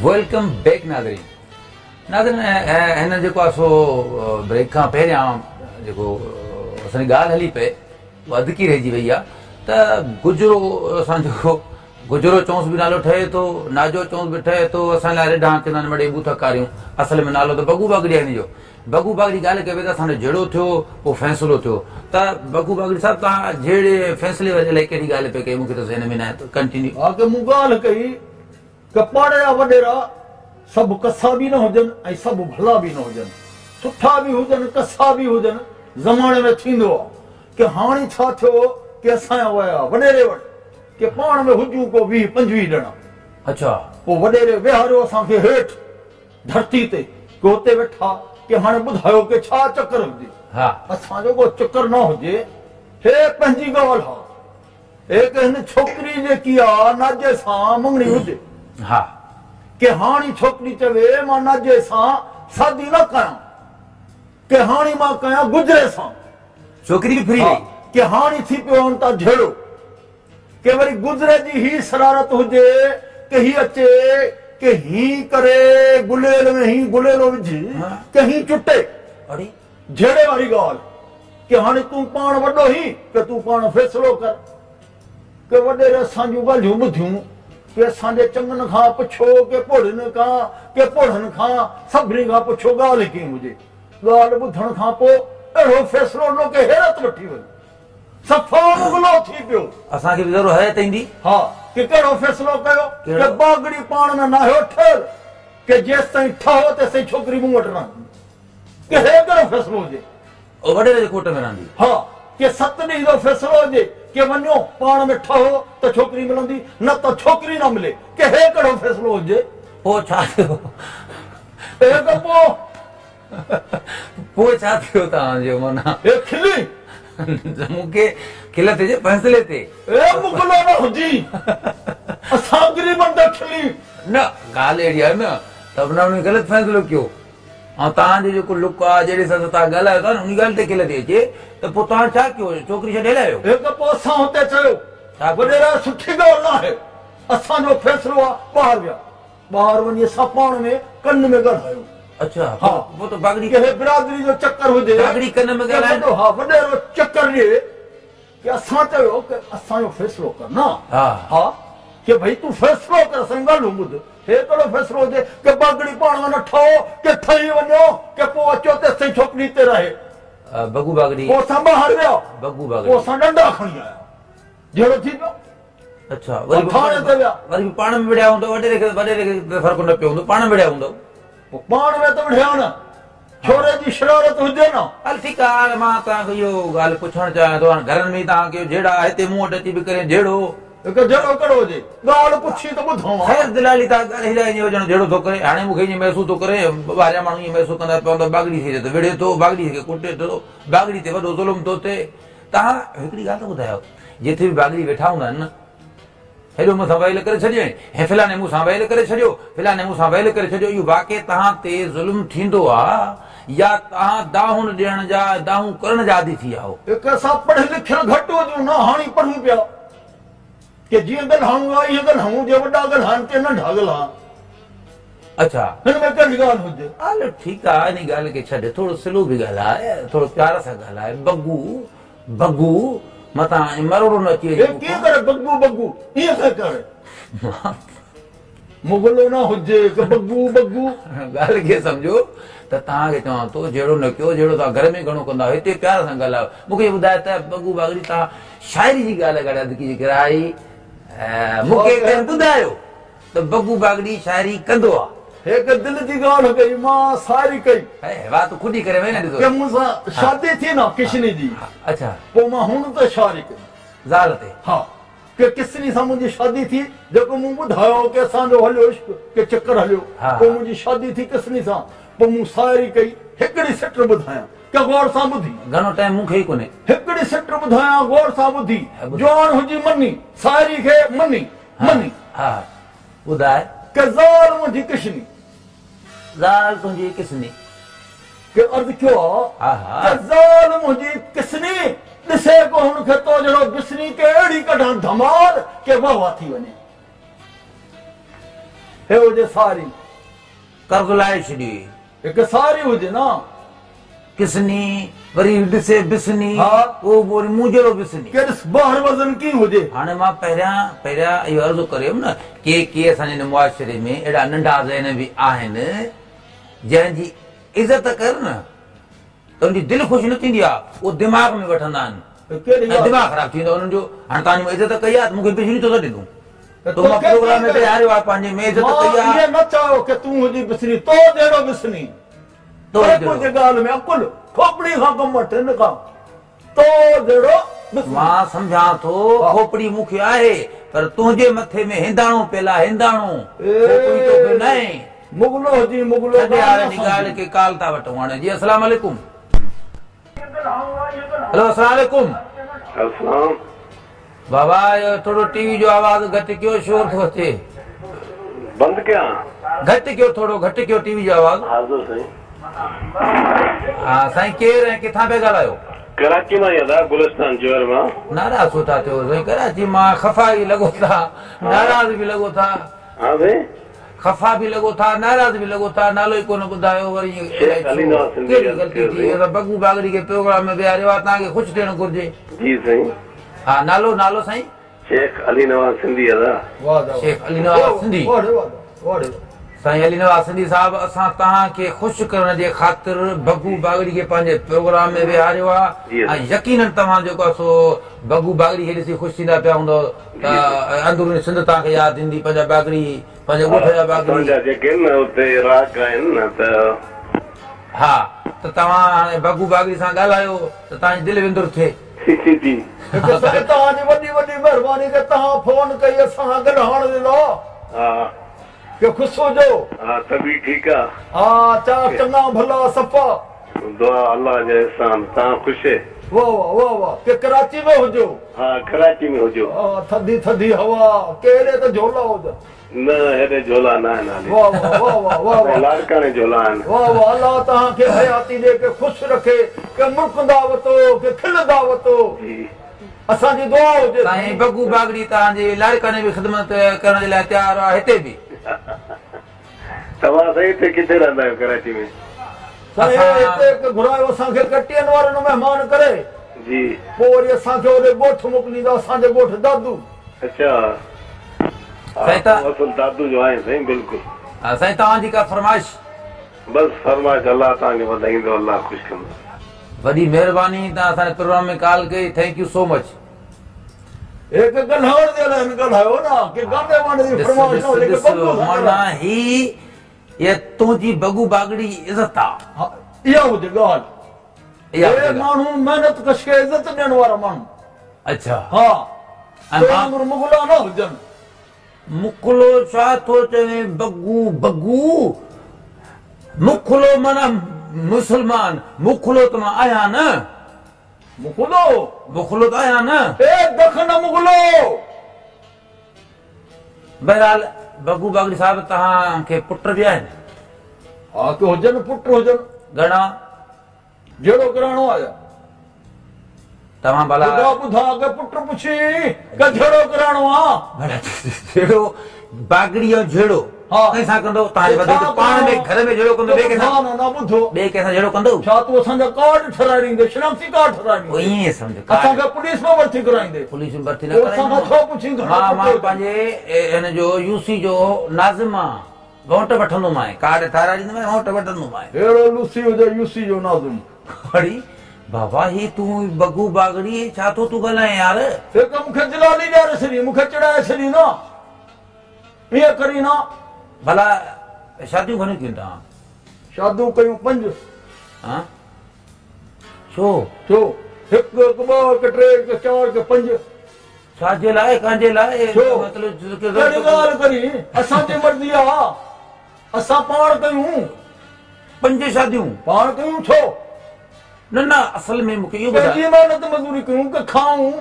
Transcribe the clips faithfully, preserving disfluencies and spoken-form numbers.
Welcome back नाज़रीन। नाज़रीन हिन जेको आहे सो ब्रेक खां पहिरियां जेको असांजी ॻाल्हि हली पई उहा अधकी रहिजी वई आहे त गुजरो असांजो गुजरो चौंस बि नालो ठहे थो, नाजो चौंस बि ठहे थो। असां लाइ रिढा चवंदा आहिनि मड़े बूथ कारियूं, असल में नालो त बगू बागड़ी आहे हिन जो। बगू बागड़ी ॻाल्हि कई त असांजो झेड़ो थियो पोइ फ़ैसिलो थियो। त बगू बागड़ी साहिबु तव्हां झेड़े फ़ैसिले वारे अलाए कहिड़ी ॻाल्हि पिया कई, मूंखे त ज़हन में न आहे, त कंटिन्यू। हा की मूं ॻाल्हि कई कि पाड़े जा वॾेरा सभु कसा बि न हुजनि ऐं सभु भला बि न हुजनि, सुठा बि हुजनि कसा बि हुजनि। ज़माने में थींदो आहे की हाणे छा थियो की असांजा विया वॾेरे वटि की पाण में हुजूं को वीह पंजवीह ॼणा। अच्छा। पोइ वॾेरे विहारियो असांखे हेठि धरती ते की हुते वेठा की हाणे ॿुधायो की छा चक्कर हुजे। हा असांजो को चक्कर न हुजे, हे पंहिंजी ॻाल्हि आहे। हे की हिन छोकिरी जेकी आहे नाजे सां मंगणी हुजे। हा की हाणे छोकिरी चवे मां नाजे सां शादी न कयां, की हाणे मां कयां गुजरे सां। छोकिरी बि फ्री वई की हाणे थी पियो हुन तां झेड़ो, की वरी गुजरे जी ही शरारत हुजे की ही अचे की ही करे गुलेल में ही गुलेलो विझी की ही चुटे। अरे झेड़े वारी ॻाल्हि की हाणे तूं पाण वॾो ही की तूं पाण फ़ैसिलो कर। की वॾेरे असांजूं ॻाल्हियूं ॿुधियूं की असांजे चङनि खां पुछो की पोड़नि खां की पोड़नि खां सभिनी खां पुछो ॻाल्हि कीअं हुजे। ॻाल्हि ॿुधण खां पोइ अहिड़ो फ़ैसिलो ॾिनो की हैरत वठी वई, सफ़ा मुगलो थी पियो। असांखे बि ज़रूरु हैरत ईंदी। हा की कहिड़ो फ़ैसिलो कयो की बागड़ी पाण में नाहियो ठहियल, की जेसि ताईं ठहो तेसि ताईं छोकिरी मूं वटि रहंदी। की हे कहिड़ो फ़ैसिलो हुजे? वॾेरे जे कोट में रहंदी। हा की सत ॾींहं जो फ़ैसिलो हुजे की वञो पाण में ठहो त छोकिरी मिलंदी, न त छोकिरी न मिले। की हे कहिड़ो फ़ैसिलो हुजे? पोइ छा थियो? पोइ पोइ छा थियो तव्हांजो? माना हे खिली मूंखे खिल थिए फ़ैसिले ते। ए मुगलो न हुजी असां ग़रीबनि ते खिली न। ॻाल्हि अहिड़ी आहे न त हुन ग़लति फ़ैसिलो कयो ऐं तव्हांजो जेको लुक आहे जहिड़े हिसाब सां तव्हां ॻाल्हायो था न उन ॻाल्हि ते खिल थी अचे त पोइ तव्हां छा कयो? छोकिरी छॾे लायो? हिकु पोइ असां हुते चयो वॾेरा सुठी ॻाल्हि न आहे, असांजो फ़ैसिलो आहे। ॿाहिरि विया, ॿाहिरि वञी असां पाण में कन में ॻाल्हायो। अच्छा। हा पोइ त बागड़ी कंहिं बिरादरी जो चक्कर हुजे, बागड़ी कन में ॻाल्हाए। हा वॾेरो चक्कर ॾिए की असां चयो की असांजो फ़ैसिलो कर न। हा हा की भई तूं फ़ैसिलो कर, असांजी ॻाल्हियूं ॿुध। हे कहिड़ो फ़ैसिलो हुजे की बागड़ी पाण में न ठहो, की ठही वञो, की पोइ अचो तेसि ताईं छोकिरी हिते रहे। बगू बागड़ी पोइ असां ॿाहिरि विया, बगू बागड़ी पोइ असां ॾंडा खणी आया, झेड़ो थी पियो। अच्छा वरी थाणे ते विया, वरी पाण में विढ़िया हूंदव, वॾेरे खे वॾेरे खे फ़र्क़ु न पियो हूंदो, पाण में विढ़िया हूंदव। पोइ पाण में त विढ़िया न, छोरे जी शरारत हुजे न। हल ठीकु आहे, हाणे मां तव्हांखे इहो ॻाल्हि पुछणु चाहियां थो, हाणे घरनि में तव्हांखे झेड़ा हिते मूं वटि अची बि करे झेड़ो हिकु झेड़ो कहिड़ो हुजे? ॻाल्हि पुछी त ॿुधो। ख़ैर दिलाली तव्हां ॻाल्हि हिलाए ईअं हुजणु झेड़ो थो करे। हाणे मूंखे ईअं महसूसु थो करे ॿाहिरियां माण्हू ईअं महसूसु कंदा पवंदा बागड़ी खे त विढ़े थो, बागड़ी खे कुटे थो, बागड़ी ते वॾो ज़ुल्म थो थिए। तव्हां हिकिड़ी ॻाल्हि त ॿुधायो, जिथे बि बागड़ी वेठा हूंदा आहिनि न, हेॾो मूंसां वैल करे छॾियो ऐं फलाणे मूंसां वैल करे छॾियो, फलाणे मूंसां वैल करे छॾियो, इहो वाक़ई तव्हां ते ज़ुल्म थींदो आहे या तव्हां दाहुनि ॾियण जा दाहूं करण जा आदी थी विया आहियो? हिकु असां पढ़ियल लिखियल घटि हुजूं न, हाणे पढ़ूं पिया की जीअं ॻाल्हायूं आहे ईअं ॻाल्हायूं, जे वॾा ॻाल्हाइनि ते नंढा ॻाल्हाइनि। अच्छा हिन में कहिड़ी ॻाल्हि हुजे? हलो ठीकु आहे, इन ॻाल्हि खे छॾ, थोरो स्लो बि ॻाल्हाए, थोरो प्यार सां ॻाल्हाए। बगू बगू मतां मरोड़ो न अची वञे। कीअं करे बगू बगू ईअं खे करे? मुगलो न हुजे की बगू बगू। ॻाल्हि खे सम्झो त तव्हांखे चवां थो जहिड़ो न कयो, जहिड़ो तव्हां घर में घणो कंदा आहियो, हिते प्यार सां ॻाल्हायो। मूंखे ॿुधायो त बगू बागड़ी तव्हां शाइरी जी ॻाल्हि ॻाल्हायो अधकी जेकर आई मूंखे कंहिं ॿुधायो त बगू बागड़ी शाइरी कंदो आहे। हिकु दिलि जी ॻाल्हि कई, मां सारी कई। वात खुदी करे वई न ॾिसो की मूंसां शादी थी न किशनी जी। अच्छा पोइ मां हुन ते शादी कई ज़ाल ते। हा की किसनी सां मुंहिंजी शादी थी, जेको मूं ॿुधायो की असांजो हलियो इश्क के चक्कर हलियो, पोइ मुंहिंजी शादी थी किसनी सां, पोइ मूं शाइरी कई। हिकिड़ी सिट ॿुधायां की गौर सां ॿुधी, घणो टाइम मूंखे ई कोन्हे। हिकिड़ी सिट ॿुधायां गौर सां ॿुधी, जवान हुजी मनी शाइरी खे मनी मनी। हा ॿुधाए की ज़ाल मुंहिंजी किसनी, ज़ाल तुंहिंजी किसनी, की अर्ज़ कयो आहे की ज़ाल मुंहिंजी किसनी ॾिसे को हुनखे तो जहिड़ो बिसनी के अहिड़ी कढां धमाल के वाह वाह थी वञे। हे हुजे सारी कर्ज़ लाए छॾी हिकु सारी हुजे न किसनी वरी ॾिसे बिसनी उहो वरी मूं जहिड़ो बिसनी के ॾिस ॿाहिरि वज़न कीअं हुजे। हाणे मां पहिरियां पहिरियां इहो अर्ज़ु करियमि न के के असांजे मुआशिरे में अहिड़ा नंढा ज़हन बि आहिनि जंहिंजी इज़त कर न त उनजी दिलि ख़ुशि न थींदी आहे, उहो दिमाग़ में वठंदा आहिनि, दिमाग़ ख़राबु थी वेंदो आहे उन्हनि जो। हाणे तव्हांजी इज़त कई आहे त मूंखे बिजली थो ॾिनो तो मां प्रोग्राम में विहारियो आहे पंहिंजे में इज़त कई आहे। इहे न चाहो कि तूं हुजी बिसनी तो जहिड़ो बिसनी तो कुझु ॻाल्हि में अकुल खोपड़ी खां कमु वठि हिन खां तो जहिड़ो। मां सम्झां थो खोपड़ी मूंखे आहे पर तुंहिंजे मथे में हिंदाणो पियल आहे, हिंदाणो खोपड़ी तोखे न आहे। मुगलो हुजी मुगलो ॻाल्हि खे काल था वठूं हाणे। जी अस्सलाम वालेकुम। हेलो अस्सलाम वालेकुम। अस्सलाम। बाबा थोरो टीवी जो आवाज़ घटि कयो, शोर थो अचे। बंदि कयां? घटि कयो, थोरो घटि कयो टीवी जो आवाज़। हाज़िर साईं। हा साईं, केरु ऐं किथां पिया ॻाल्हायो? कराची मां अदा, गुलिस्तान जोहर मां। नाराज़ छो था थियो साईं? कराची मां खफ़ा बि लॻो था, नाराज़ बि लॻो था। हा साईं, खफ़ा बि लॻो था, नाराज़ बि लॻो था, नालो ई कोन ॿुधायो। वरी कहिड़ी ग़लती थी? असां बगू बागड़ी खे प्रोग्राम में विहारियो आहे, तव्हांखे ख़ुशि थियणु घुरिजे। जी साईं। हा नालो नालो साईं? शेख अली नवाज़ सिंधी अदा। शेख अली नवाज़ सिंधी। साईं अली नवाज़ सिंधी साहब, असां तव्हांखे ख़ुशि करण जे ख़ातिर बगू बागड़ी खे पंहिंजे प्रोग्राम में विहारियो आहे ऐं यकीनन तव्हां जेको आहे सो बगू बागड़ी खे ॾिसी ख़ुशि थींदा पिया हूंदव त अंदरूनी सिंध तव्हांखे यादि ईंदी, पंहिंजा बागड़ी, पंहिंजे ॻोठ जा बागड़ी जेके आहिनि न उते राग आहिनि न त हा त तव्हां हाणे बगू बागड़ी सां ॻाल्हायो त तव्हांजी दिलि विंदुर थिए। जी जी तव्हांजी वॾी वॾी महिरबानी के तव्हां फोन कई असां सां ॻाल्हाइण जे लाइ। हा के ख़ुशि हुजो। हा तबी ठीकु आहे। हा चा चङा भला सफ़ा दुआ अल्लाह जे एहसान। तव्हां ख़ुशि? वाह वाह वाह वाह। के कराची में हुजो? हा कराची में हुजो। हा थधी थधी हवा, कहिड़े त झोला हुजनि। न हेॾे झोला न आहिनि हाली। वाह वाह वाह वाह वाह वाह। लाड़काणे झोला आहिनि। वाह वाह। अल्लाह तव्हांखे हयाती ॾे, के ख़ुशि रखे, के मुड़कंदा वतो, के खिलंदा वतो। असांजी दुआ हुजे। साईं बगू बागड़ी तव्हांजी लाड़काणे बि ख़िदमत करण जे लाइ तयारु आहे, हिते बि। तव्हां साईं हिते किथे रहंदा आहियो कराची में? साईं हिते घुरायो असांखे, कटियनि वारनि महिमान करे जी, पोइ वरी असांखे होॾे ॻोठ मोकिलींदा, असांजे ॻोठ दादू। अच्छा साईं, असल दादू जो आहे साईं। बिल्कुलु। साईं तव्हांजी का फरमाइश? बसि फरमाइश अल्लाह तव्हांखे वधाईंदो, अल्लाह ख़ुशि कंदो। वॾी महिरबानी तव्हां असांजे प्रोग्राम में कॉल कई, thank you so much. हिकु ॻाल्हाइण जे लाइ ॻाल्हायो न कि गाने वाने जी फरमाइश न हुजे, माना ही इहा तुंहिंजी बगू बागड़ी इज़त आहे। इहा हुजे ॻाल्हि। इहे माण्हू महिनत कश खे इज़त ॾियण वारा माण्हू। अच्छा। हा ऐं मुगला न हुजनि। मुखलो छा थो चवे? बगू बगू मुखलो माना मुसलमान, मुखलो त मां आहियां न। मुखलो मुखलो त आहियां न। ए दखन मुगलो। बहरहाल बगू बागड़ी साहब तव्हांखे पुट बि आहिनि? हा के हुजनि, पुट हुजनि। घणा? जहिड़ो कराइणो आहे तव्हां भला ॿुधा ॿुधा के पुट पुछी के जहिड़ो कराइणो आहे। भला जहिड़ो बागड़ी ऐं झेड़ो कंहिंसां कंदो? तव्हांजे वधीक पाण में घर में झेड़ो कंदो, ॿिए कंहिंसां न? न ॿुधो, ॿिए कंहिंसां झेड़ो कंदो? छा तूं असांजा कार्ड ठहिराए ॾींदे, शनाख्ती कार्ड ठहिराए ॾींदे? ईअं सम्झ, असांखे पुलिस में भर्ती कराईंदे। पुलिस में भर्ती न कराईंदे। असांखां छो पुछींदो? मां मां पंहिंजे हिन जो यूसी जो नाज़िम आहे, वोट वठंदोमांइ, कार्ड ठहिराए ॾींदोमांइ, वोट वठंदोमांइ। अहिड़ो लूसी हुजे यूसी जो नाज़िम। अड़ी बाबा, ही तूं बगू बागड़ी छा थो तूं ॻाल्हाए यार? हिकु मूंखे जलाली ॾियारे छॾी, मूंखे चिड़ाए छॾी न, ईअं करी न। भला शादियूं घणियूं कयूं तव्हां? शादियूं कयूं पंज। हा छो? छो? हिकु, हिकु, ॿ, हिकु, टे, हिकु, चारि, हिकु, पंज। छाजे लाइ? कंहिंजे लाइ? मतिलबु कहिड़ी ॻाल्हि करी? असांजी मर्ज़ी आहे, असां पाण कयूं। पंज शादियूं पाण कयूं? छो? न न, असल में मूंखे इहो ॿुधाए। महिनत मज़दूरी कयूं की खाऊं?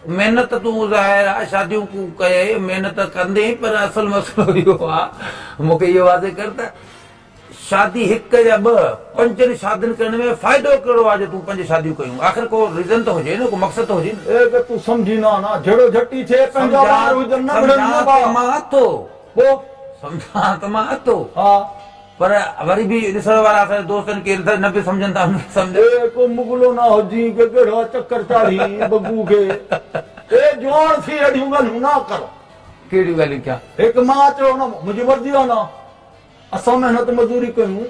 महिनत तूं ज़ाहिर आहे शादियूं कए महिनत कंदे, पर असल मसइलो इहो आहे, मूंखे इहो वाज़े कर त शादी हिकु या ॿ, पंजनि शादियुनि करण में फ़ाइदो कहिड़ो आहे जो तूं पंज शादियूं कयूं? आख़िर को रीज़न त हुजे न, को मक़सदु त हुजे न। ए तूं सम्झी न ना, जहिड़ो झटी थिए पंहिंजा ॿार हुजनि न, मां थो पोइ सम्झां त मां अथो। हा पर वरी बि ॾिसण वारा असांजे दोस्तनि खे न बि सम्झनि था, सम्झ ए को मुगलो ना हुजी के कहिड़ा चक्कर चाढ़ी बग्गू खे। ए जवान थी अहिड़ियूं ॻाल्हियूं न कर। कहिड़ियूं ॻाल्हियूं कयां? हिकु मां चयो न, मुंहिंजी मर्ज़ी आहे न, असां महिनत मज़दूरी कयूं।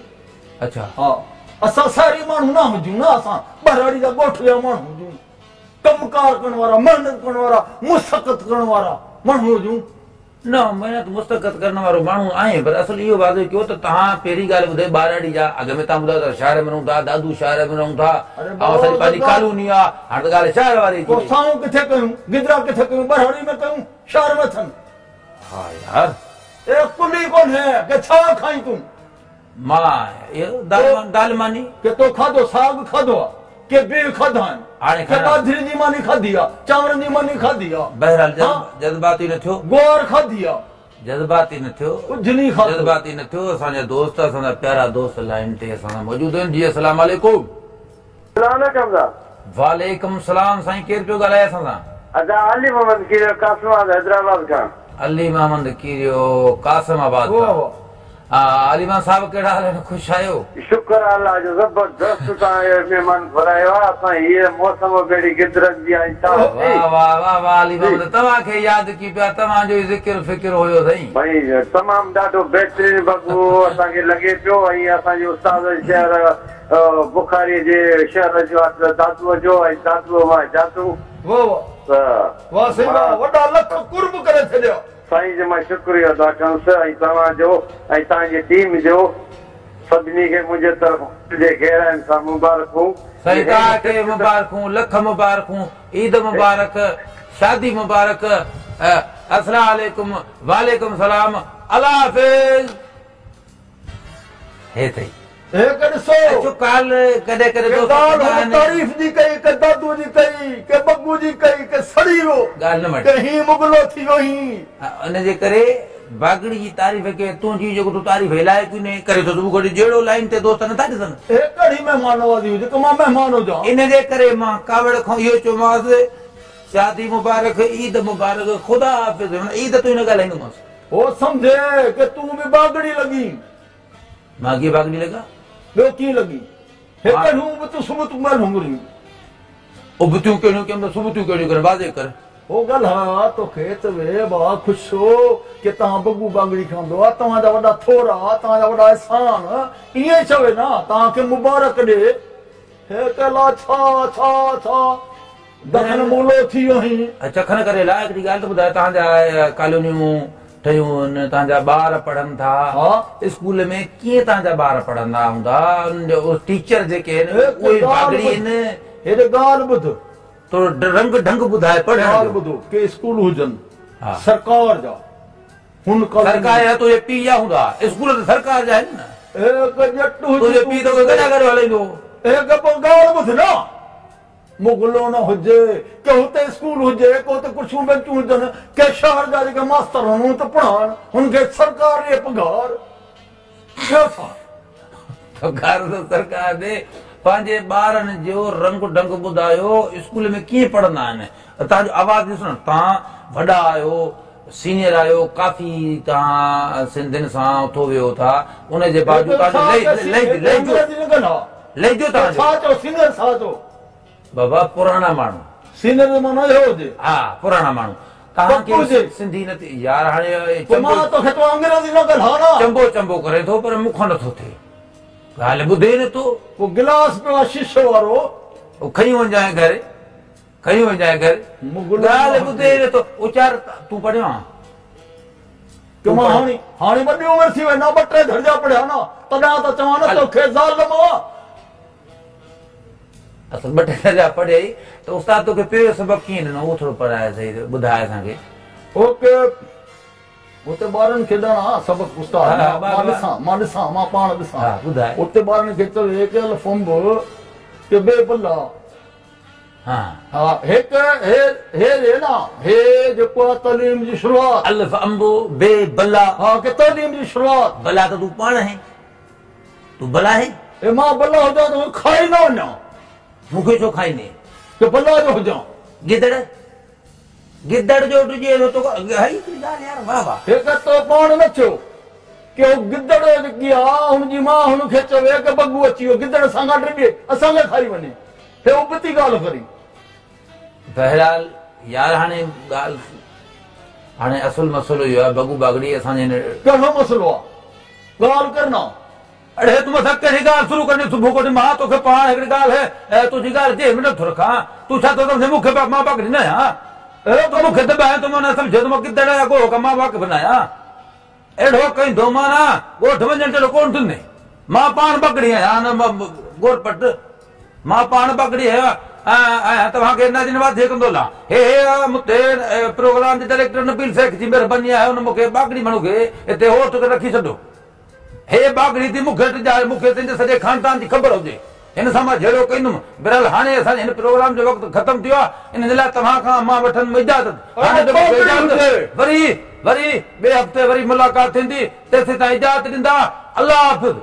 अच्छा हा, असां शहरी माण्हू न हुजूं न, असां ॿहराड़ी जा ॻोठ जा माण्हू हुजूं, कमु कार करण वारा, महिनत करण वारा, मुशक़त करण वारा माण्हू हुजूं। न, महिनत मुस्तक़त करण वारो माण्हू आहे, पर असुलु इहो वाज़े कयो त तव्हां पहिरीं ॻाल्हि ॿुधाए ॿारड़ी जा, अॻु में तव्हां ॿुधायो त शहर में रहूं था, दादू शहर में रहूं था, ऐं असांजी पंहिंजी कॉलोनी आहे। हाणे त ॻाल्हि शहर वारी थी। साऊं किथे कयूं, गिदरा किथे कयूं, ॿहराड़ी में कयूं, शहर में थियनि। हा यार, ए कुली कोन्हे के छा खाई तूं? मां इहो दाल दाल मानी के तो खाधो साग खाधो आहे के बीह खाधा आहिनि, हाणे के बाजरी जी मानी खाधी आहे, चांवरनि जी मानी खाधी आहे। बहरहाल जज़्बाती न थियो, गुआर खाधी आहे, जज़्बाती न थियो, कुझु नी खाधो, जज़्बाती न थियो। असांजा दोस्त, असांजा प्यारा दोस्त लाइन ते असां सां मौजूद आहिनि। जी अस्सलाम वालेकुम। वालेकुम सलाम। साईं केरु पियो ॻाल्हाए असां सां? अदा अली मोहम्मद कीरियो कासिमाबाद हैदराबाद खां। अली मोहम्मद कीरियो कासिमाबाद खां। अली मोहम्मद साहब कहिड़ा हाल आहिनि? ख़ुशि आहियो? शुक्र अल्लाह जो, ज़बरदस्त तव्हां महिमान घुरायो आहे। असां हीअ मौसम बि गिदरनि जी आहे। वाह वाह वाह वाह अली मोहम्मद, तव्हांखे यादि की पिया, तव्हांजो ई ज़िक्र फ़िक्र हुयो साईं। भाई तमामु ॾाढो बहितरीन बगू असांखे लॻे पियो। ऐं असांजे उस्ताद शहर बुखारी जे शहर जो आहे दादूअ जो, ऐं दादूअ मां जादू। वाह वाह वाह साईं, वॾा लख कुर्ब करे छॾियो साईं जो। मां शुक्रियो अदा कंदुसि ऐं तव्हांजो ऐं तव्हांजी टीम जो, सभिनी खे मुंहिंजे तरफ़ जे गहराइनि सां मुबारकूं। साईं तव्हांखे मुबारकूं, लख मुबारकूं, ईद मुबारक, शादी मुबारक। अस्सलाम वालेकुम। वालेकुम सलाम, अल्लाह हाफ़िज़। हे अथई हे ॾिसो, अचो काल कॾहिं कॾहिं दोस्त तारीफ़ जी कई, के दादू जी कई, के बग्गू जी कई, के सड़ी वियो, ॻाल्हि न के ही मुगलो थी वियो ही। उनजे करे बागड़ी जी तारीफ़ के तुंहिंजी जेको तूं तारीफ़ लाइक़ ई न करे थो, तूं घड़ी जहिड़ो लाइन ते दोस्त नथा ॾिसनि। हे कहिड़ी महिमान नवाज़ी हुजे, मां महिमान हुजां। इन जे करे मां कावड़ खां इहो चयोमांसि, शादी मुबारक, ईद मुबारक, ख़ुदा हाफ़िज़। ईद तूं न ॻाल्हाईंदोमांसि। हो सम्झे के तूं बि बागड़ी लॻी। मां कीअं बागड़ी लॻा? ॿियो कीअं लॻी? हे कहिड़ियूं बि तूं सुबुतियूं ॻाल्हियूं घुरियूं। उबतियूं कहिड़ियूं कयूं, सुबुतियूं कहिड़ियूं कर, वाज़े कर। हो ॻाल्हाया तोखे त वे बा ख़ुशि हो के तव्हां बग्गू बागड़ी खांदो आहे, तव्हांजा वॾा थोरा, तव्हांजा वॾा अहसान। ईअं चवे न तव्हांखे मुबारक ॾे। हे कला छा छा छा दखन मूलो थी वियो ही। चखन करे लाइ हिकिड़ी ॻाल्हि त ॿुधाए, तव्हांजा कॉलोनियूं ठहियूं आहिनि, तव्हांजा ॿार पढ़नि था स्कूल में, कीअं तव्हांजा ॿार पढ़ंदा हूंदा? टीचर जेके आहिनि उहे बागड़ी आहिनि। हेॾे ॻाल्हि ॿुध, थोरो रंग ढंग ॿुधाए पढ़ण। ॻाल्हि ॿुधो, के स्कूल हुजनि सरकार जा, हुन सरकार जा तुंहिंजे पीउ जा हूंदा, स्कूल त सरकार जा आहिनि न। तुंहिंजो पीउ तोखे कॾां करे हलाईंदो? ॻाल्हि ॿुध न, मुगलो न हुजे के हुते स्कूल हुजे, के हुते कुर्सियूं बेंचूं हुजनि, के शहर जा जेके मास्तर हुन त पढ़ाइनि, हुनखे सरकार ॾिए पघार। पघार त सरकार ॾे। पंहिंजे ॿारनि जो रंग ढंग ॿुधायो, स्कूल में कीअं पढ़ंदा आहिनि? तव्हांजो आवाज़ ॾिसो न, तव्हां वॾा आहियो, सीनियर आहियो, काफ़ी तव्हां सिंधियुनि सां उथो वियो था, उनजे बावजूद तव्हांजो लहिजो तव्हांजो सीनियर छा चओ? बाबा पुराणा माण्हू, सीनियर माना इहो हुजे। हा पुराणा माण्हू। तव्हांखे सिंधी न यार, हाणे मां तोखे तूं अंग्रेज़ी न ॻाल्हाए न। चंबो चंबो करे थो पर मूंखां नथो थिए, ॻाल्हि ॿुधे नथो। पोइ गिलास पियो आहे शीशो वारो, उहो खणी वञिजांइ घर, खणी वञिजांइ घर, ॻाल्हि ॿुधे नथो। उचार तूं पढ़ियो आहे? मां हाणे हाणे वॾी उमिरि थी वई न, ॿ टे दर्जा पढ़िया न, तॾहिं त चवां न तोखे ज़ाल मां। असल ॿ टे दर्जा पढ़ियई त उस्ताद तोखे पहिरियों सबक़ु कीअं ॾिनो? उहो थोरो पढ़ाए सही, ॿुधाए असांखे। ओके, उते ॿारनि खे ॾियणा सबक़ु उस्ताद, मां ॾिसां, मां ॾिसां, मां पाण ॾिसां। ॿुधाए। उते ॿारनि खे चवे के अल्फ अंब के बे बला। हा हा, हिकु हे हे हे न, हे जेको आहे तालीम जी शुरूआत। अल्फ अंब बे बला। हा, के तालीम जी शुरूआत। बला त तूं पाण आहे, तूं बला आहे। ए मां बला हुजां त खाई न वञा। मूंखे छो खाईंदे? के बला जो हुजां। गिदड़, गिदड़ जो ॾिजे थो तोखे। हिकिड़ी ॻाल्हि यार, वाह वाह। हिकु त पाण न थियो। ڪه هو گدڙ جيڪي آ هن جي ماءُ هن کي چوي ڪه بگو اچي ويو، گدڙ اسان کان ڊڄي، اسان کي کائي وڃي. هي ابتي ڳالهه ڪري. بهرحال يار هاڻي ڳالهه هاڻي اصل مسئلو اهو آهي بگو باگڙي اسان جي ڪهڙو مسئلو آهي؟ ڳالهه ڪرنا. اڙي تون مون سان ڪهڙي ڳالهه شروع ڪرڻي صبح ڪوٺي؟ مان توکي پاڻ هڪڙي ڳالهه تنهنجي ڳالهه جي ۾ نٿو رکان. تون ڇا ٿو سمجهين مون کي؟ مان باگڙي نه آهيان. تون مون کي دٻائين ٿو، مان نه سمجهي ٿو مان گدڙ يا ڳوهه کان مان واقف نه آهيان. اهڙو ڪندو معنيٰ ڳوٺ وڃڻ جهڙو ڪونه ٿيندي. مان پاڻ باگڙي آهيان نه ڳورپٽ، مان پاڻ باگڙي آهيان ۽ توهان کي ناظرين واضح ڪندو هلان. هي هي مون تي پروگرام جي ڊائريڪٽر نبيل شيخ جي مهرباني آهي، هن مون کي باگڙي ماڻهو کي هتي هوٺ ڪري رکي ڇڏيو. هي باگڙي ٿي مون کي ڊڄاري، مون کي تنهنجي سڄي خاندان جي خبر هجي، هن سان مان جهيڙو ڪندم. بهرحال هاڻي اسان جي هن پروگرام جو وقت ختم ٿيو آهي، ان جي لاءِ توهان کان مان وٺندم اجازت. هاڻي ته مون کي اجازت، وري وري ٻئي هفتي وري ملاقات ٿيندي، تيسين تائين اجازت ڏيندا. الله حافظ.